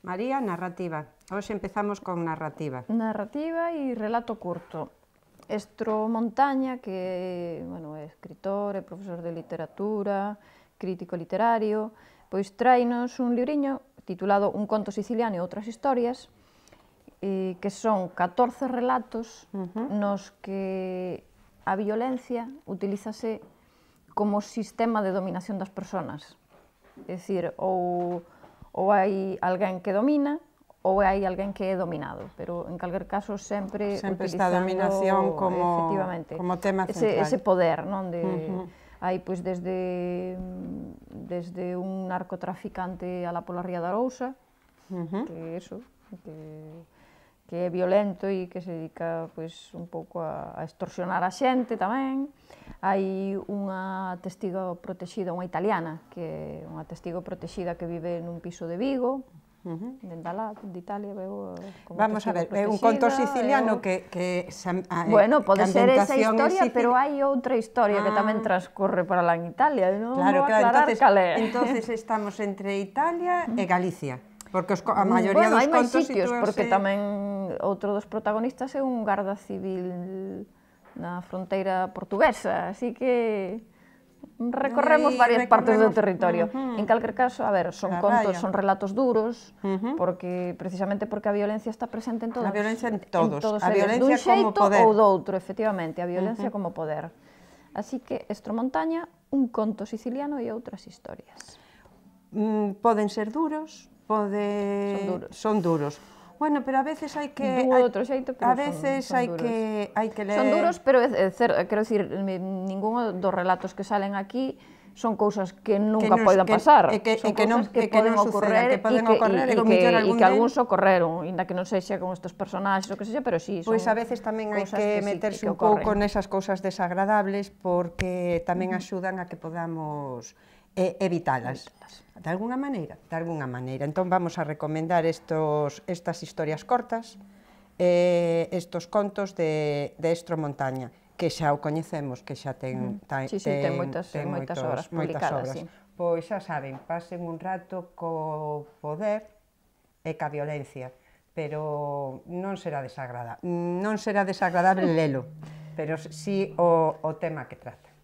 María, narrativa. Hoxe empezamos con narrativa. Narrativa e relato curto. Estro Montaña, que é escritor e profesor de literatura, crítico literario, pois tráenos un libriño titulado Un conto siciliano e outras historias, que son 14 relatos nos que a violencia utilízase como sistema de dominación das persoas. É dicir, ou hai alguén que domina ou hai alguén que é dominado, pero en calquer caso sempre esta dominación como tema central. Ese poder, non? Hai pois desde un narcotraficante alá pola Ría de Arousa, que é violento e que se dedica pois un pouco a extorsionar a xente tamén. Hai unha testigo protexida, unha italiana, que é unha testigo protexida que vive nun piso de Vigo, dende alá, de Italia, veo como vamos a ver, é un conto siciliano que bueno, pode ser esa historia, pero hai outra historia que tamén transcorre para lá en Italia, non vou aclarar cal é. Entonces estamos entre Italia e Galicia, porque a maioría dos contos sitios, porque tamén outro dos protagonistas é un garda civil na fronteira portuguesa, así que recorremos varias partes do territorio. En calquer caso, a ver, son contos, son relatos duros, porque precisamente porque a violencia está presente en todos. A violencia en todos, a violencia como poder. Dun xeito ou doutro, efectivamente, a violencia como poder. Así que Estro Montaña, un conto siciliano e outras historias. Poden ser duros, son duros. Bueno, pero a veces hai que... A veces hai que ler... Son duros, pero, quero dicir, ningún dos relatos que salen aquí son cousas que nunca poden pasar. Son cousas que poden ocorrer e que algúns ocorreron, ainda que non sexa con estes personaxes ou que sexa, pero sí, son cousas que... Pois a veces tamén hai que meterse un pouco nesas cousas desagradables porque tamén axudan a que podamos evitalas. De alguna maneira, Entón vamos a recomendar estas historias cortas, estos contos de Estro Montaña, que xa o coñecemos, que xa ten moitas obras publicadas. Pois xa saben, pasen un rato co poder e ca violencia, pero non será desagradable lelo, pero sí o tema que trata.